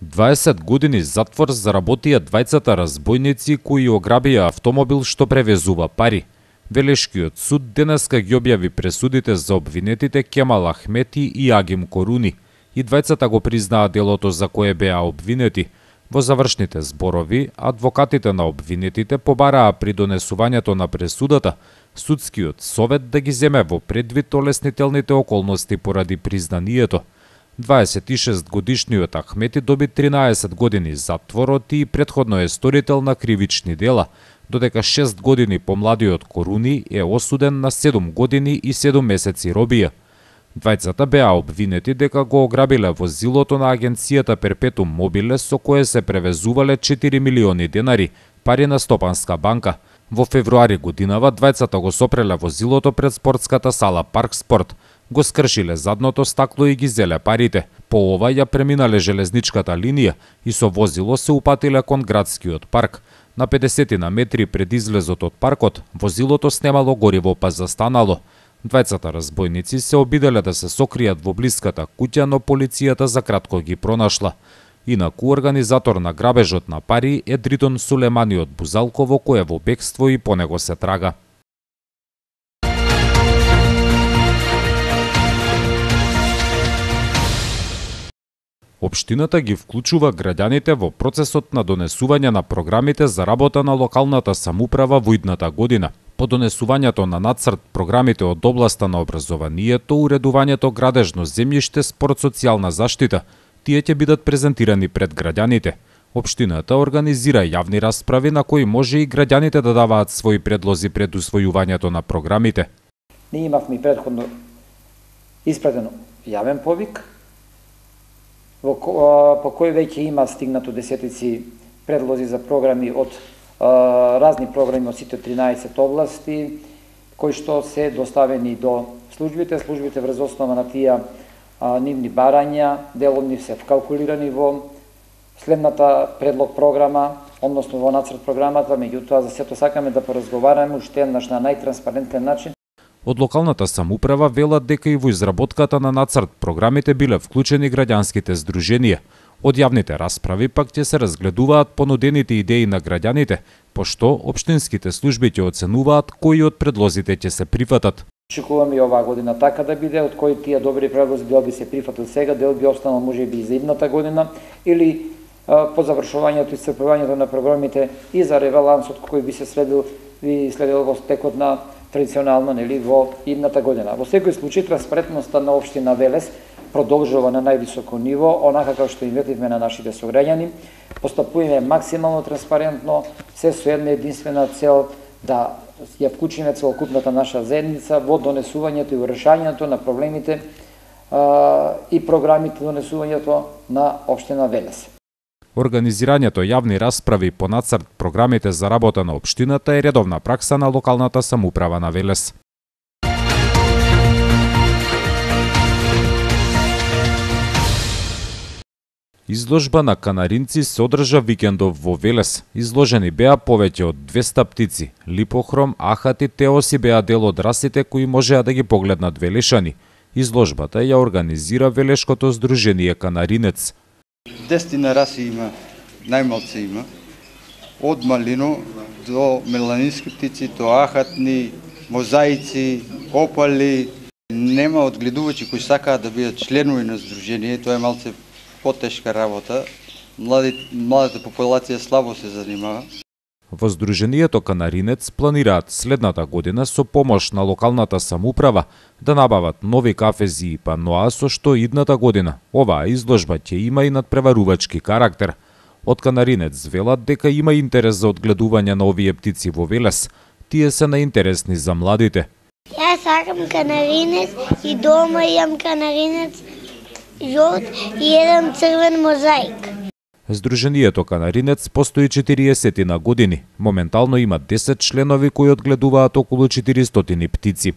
20 години затвор заработија двајцата разбойници кои ограбија автомобил што превезува пари. Велешкиот суд денеска ги објави пресудите за обвинетите Кемал Ахмети и Агим Коруни. И двајцата го признаа делото за кое беа обвинети. Во завршните зборови, адвокатите на обвинетите побараа при донесувањето на пресудата судскиот совет да ги земе во предвид олеснителните околности поради признанието. 26-годишниот Ахмети доби 13 години затворот и претходно е сторител на кривични дела, додека 6 години помладиот Коруни е осуден на 7 години и 7 месеци робија. Двајцата беа обвинети дека го ограбиле возилото на агенцијата Перпетум Мобиле со кое се превезувале 4 милиони денари, пари на Стопанска банка. Во февруари годинава двајцата го сопреле возилото пред спортската сала Парк Спорт, го скршиле задното стакло и ги зеле парите. По ова ја преминале железничката линија и со возило се упатиле кон градскиот парк. На 50 на метри пред излезот од паркот, возилото снемало гориво па застанало. Двајцата разбойници се обиделе да се сокријат во блиската куќа, но полицијата за кратко ги пронашла. Инаку организатор на грабежот на пари е Дритон Сулемани од Бузалково, кој е во бегство и по него се трага. Општината ги вклучува граѓаните во процесот на донесување на програмите за работа на локалната самоуправа во идната година. По донесувањето на нацрт програмите од областа на образованието, уредувањето градежно земјиште, спорт, социјална заштита, тие ќе бидат презентирани пред граѓаните. Општината организира јавни расправи на кои може и граѓаните да даваат своји предлози пред усвојувањето на програмите. Ние имавме претходно испратен јавен повик, по кој веќе има стигнато десетици предлози за програми од разни програми од сите 13 области, кои што се доставени до службите. Службите врз основа на тие нивни барања, дел од нив се вкалкулирани во следната предлог програма, односно во нацрт програмата, меѓутоа за сето сакаме да поразговараме уште еднаш на најтранспарентен начин. Од локалната самоуправа велат дека и во изработката на нацрт програмите биле вклучени граѓанските здруженија. Од јавните расправи пак ќе се разгледуваат понудените идеи на граѓаните, пошто општинските служби ќе оценуваат кои од предлозите ќе се прифатат. Очекуваме и оваа година така да биде, од кои тие добри предлози дел би се прифатат сега, дел би останал можеби и за идната година, или по завршувањето и исцрпувањето на програмите и за ребалансот кој би се следил во текот на традиционално во идната година. Во секој случај транспарентноста на општина Велес продолжува на највисоко ниво, онака како што инветивме на нашите сограѓани. Постапуваме максимално транспарентно, се со една единствена цел да ја вклучиме целокупната наша заедница во донесувањето и решањето на проблемите и програмите донесувањето на општина Велес. Организирањето јавни расправи по нацрт програмите за работа на општината е редовна пракса на локалната самоуправа на Велес. Изложба на канаринци се одржа викендов во Велес. Изложени беа повеќе од 200 птици. Липохром, ахат и теоси беа дел од расите кои можеа да ги погледнат велешани. Изложбата ја организира Велешкото здружение Канаринец. 10 раси има, најмалце има, од малино до меланински птици, до ахатни, мозаици, опали. Нема одгледувачи кои сакаат да бидат членови на здружение, тоа е малце потешка работа. Младата популација слабо се занимава. Во здруженијето Канаринец планираат следната година со помош на локалната самоуправа да набават нови кафези и паноа, со што идната година оваа изложба ќе има и надпреварувачки карактер. Од Канаринец велат дека има интерес за одгледување на овие птици во Велес. Тие се наинтересни за младите. Јас сакам канаринец и дома имам канаринец жолт и еден црвен мозаик. Здруженијето Канаринец постои 40 на години. Моментално има 10 членови кои одгледуваат околу 400 птици.